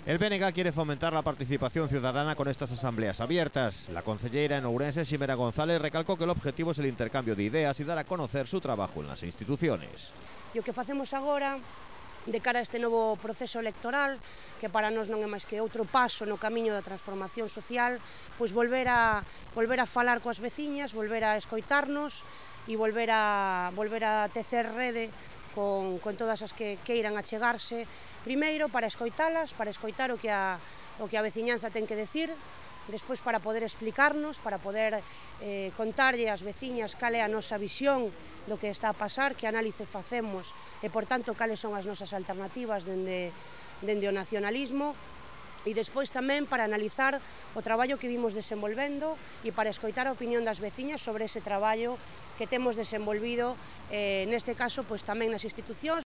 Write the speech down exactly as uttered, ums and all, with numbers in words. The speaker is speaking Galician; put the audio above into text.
El B N G quiere fomentar la participación ciudadana con estas asambleas abiertas. La concelleira en Ourense, Ximena González, recalcó que el objetivo es el intercambio de ideas y dar a conocer su trabajo en las instituciones. E o que facemos agora, de cara a este novo proceso electoral, que para nós non é máis que outro paso no camiño da transformación social, pois volver a, volver a falar coas veciñas, volver a escoitarnos e volver a, volver a tecer rede con, con todas as que queiran achegarse, primeiro para escoitalas, para escoitar o que a, o que a veciñanza ten que decir, despois para poder explicarnos, para poder eh, contarlle ás veciñas cal é a nosa visión do que está a pasar, que análise facemos e, por tanto, cales son as nosas alternativas dende, dende o nacionalismo, e despois tamén para analizar o traballo que vimos desenvolvendo e para escoitar a opinión das veciñas sobre ese traballo que temos desenvolvido, eh, neste caso, pois tamén nas institucións,